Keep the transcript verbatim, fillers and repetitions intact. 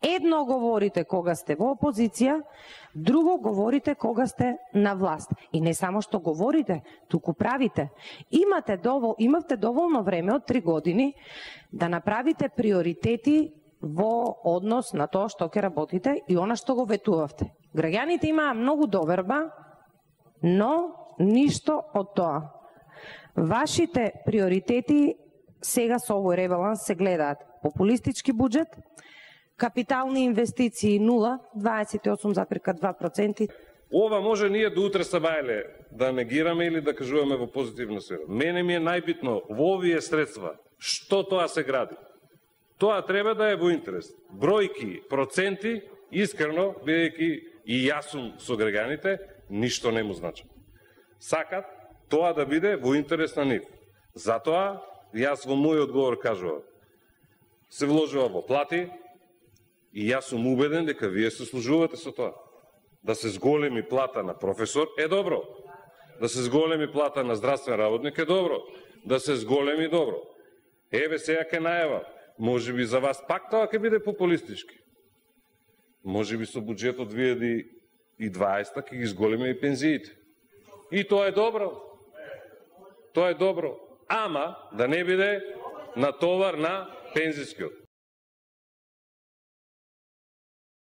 Едно говорите кога сте во опозиција, друго говорите кога сте на власт. И не само што говорите, туку правите. Имате довол, имавте доволно време од три години да направите приоритети во однос на тоа што ќе работите и она што го ветувавте. Граѓаните имаа многу доверба, но ништо од тоа. Вашите приоритети сега со овој ребаланс се гледаат: популистички буџет, капитални инвестиции нула, дваесет и осум запирка два проценти. Ова може ние до утре сабајле да негираме или да кажуваме во позитивна сфера. Мене ми е најбитно во овие средства што тоа се гради. Тоа треба да е во интерес. Бројки, проценти, искрено, бидејќи и јас сум со граѓаните, ништо не му значи. Сакат тоа да биде во интерес на нив. Затоа јас во мој одговор кажувам: се вложува во плати и јас сум убеден дека вие се служувате со тоа. Да се зголеми плата на професор е добро. Да се зголеми плата на здравствен работник е добро. Да се зголеми добро. Еве сега ќе најавам. Може би за вас пак тоа ќе биде популистички. Може би со буџетот две илјади и дваесета ќе ги зголеме и пензиите. И тоа е добро. Тоа е добро. Ама да не биде на товар на пензискиот.